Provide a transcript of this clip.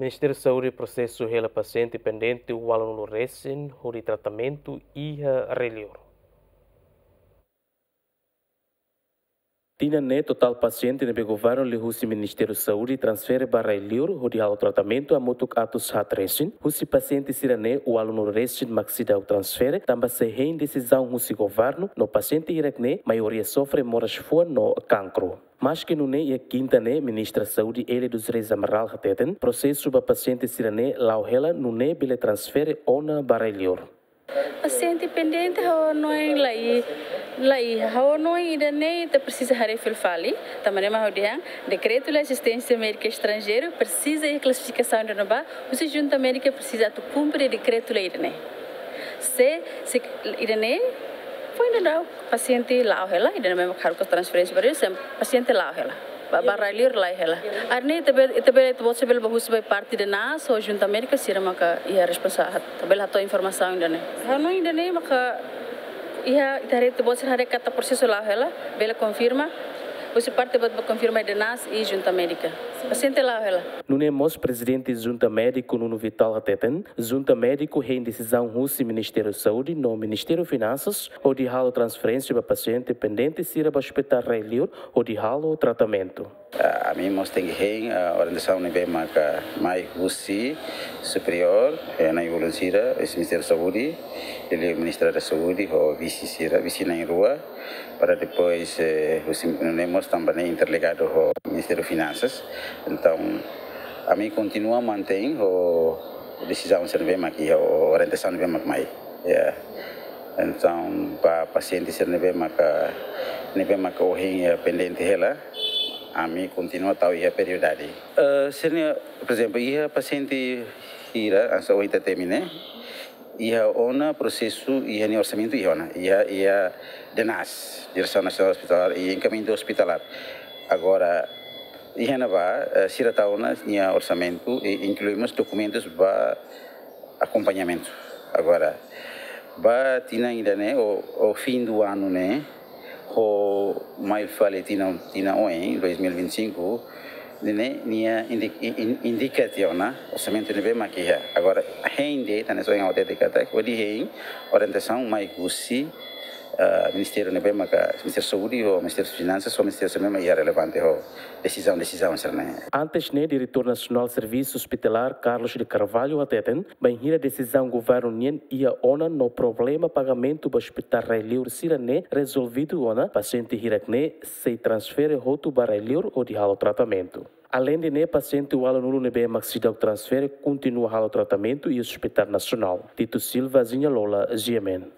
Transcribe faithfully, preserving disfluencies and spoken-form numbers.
Ministériu Saúde prosesa hela pasiente pendente ualunulu resin hodi tratamentu iha rai-liur. Tinan ne'e totál pasiente ne'ebé governu liuhusi Ministériu Saúde transfere ba rai-liur hodi halo tratamentu hamutuk atus haat resin. Husi pasiente sira-ne'e ualunulu resin mak seidauk transfere tanba sei hein desizaun husi governu, no pasiente hirak-ne'e maioria sofre moras fuan no kankru. Maske nune'e, iha kinta ne'e, Ministra Saúde Élia dos Reis Amaral hateten prosesu ba pasiente sira-ne'e la'o hela, nune'e bele transfere ona ba rai-liur. Pasiente pendente ha'u hanoin laiha, laiha. Ha'u hanoin ida-ne'e ita presiza haree fila fali. Tanba ne'e mak ha'u dehan, dekretu lei asisténsia médika estranjeiru presiza iha klasifikasaun ida-ne'ebá, husi Junta Médika presiza atu kumpre dekretu lei ida-ne'e. Se, se ida-ne'e foin daudaun pasiente la'o hela, ida-ne'e mak haruka transferénsia ba rai-liur, se pasiente la'o hela. Ba, ba rai-liur la'o hela. Ida-ne'e ita bele, ita bele, ita-boot sira bele bá husu ba parte DNAS ou Junta Médika, sira maka iha responsa-, ita bele hato'o informasaun ida-ne'e. Ha'u hanoin ida-ne'e maka iha, ita haree, ita-boot sira haree katak prosesu la'o hela, bele konfirma, husi parte ba, ba konfirma DNAS i Junta Médika. Pasiente la'o hela. Nune'e mós Prezidente Junta Médika Nuno Vital hateten, Junta Médika hein desizaun husi Ministériu Saúde no Ministériu Finansas hodi halo transferénsia ba pasiente pendente sira ba ospitál rai-liur hodi halo tratamentu. Ah, ami mós tenke hein, ah, orientasaun ne'ebé maka mai husi superiór, eh, na'in-ulun sira, husi Ministériu Saúde, liuliu Ministra da Saúde, ho vise sira, vise na'in-rua, para depois, eh, husi, nune'e mós tanba ne'e interligadu ho Ministériu Finansas. Entaun, ami kontinua mantein ho desizaun sira ne'ebé mak iha, ho orientasaun ne'ebé mak mai. Ya. Entaun, ba pasiente sira ne'ebé maka, ne'ebé maka ohin iha pendente hela, ami kontinua tau iha prioridade. Eh, sira-ne'e, por ezemplu, iha pasiente hira, hanesan ohin ita temi ne'e, iha ona prosesu, iha nia orsamentu iha ona, iha, iha DNAS, Diresaun Nasionál Ospitalar, iha enkamiñamentu ospitalar. Agora, iha ne'ebá, eh, sira tau ona nia orsamentu, i inklui mós dokumentus ba akompañamentu. Agora, ba tinan ida-ne'e, ou, ou fim do ano ne'e, ho mai fali tinan, tinan oin, dois mil e vinte e cinco, ne'e, nia indi-, in-, in-, indika tiha ona orsamentu ne'ebé mak iha. Agora, hein de'it, hanesan ohin ha'u hatete katak, hodi hein orientasaun mai husi, ah, ministériu ne'ebé maka, Ministériu Saúde, ou Ministériu Finansas, ou Ministériu sira ne'ebé mak iha relevante ho desizaun, desizaun sira-ne'e. Antes ne'e, Diretór Nasionál Servisu Ospitalar, Carlos de Carvalho, hateten, bainhira desizaun governu nian iha ona no problema pagamentu ba ospitál rai-liur sira-ne'e rezolvidu ona, pasiente hirak-ne'e sei transfere hotu ba rai-liur hodi halo tratamentu. Aleinde ne'e, pasiente ualunulu ne'ebé mak seidauk transfere kontinua halo tratamentu iha Ospitál Nasionál. Tito Silva, Zinha Lola, G M N.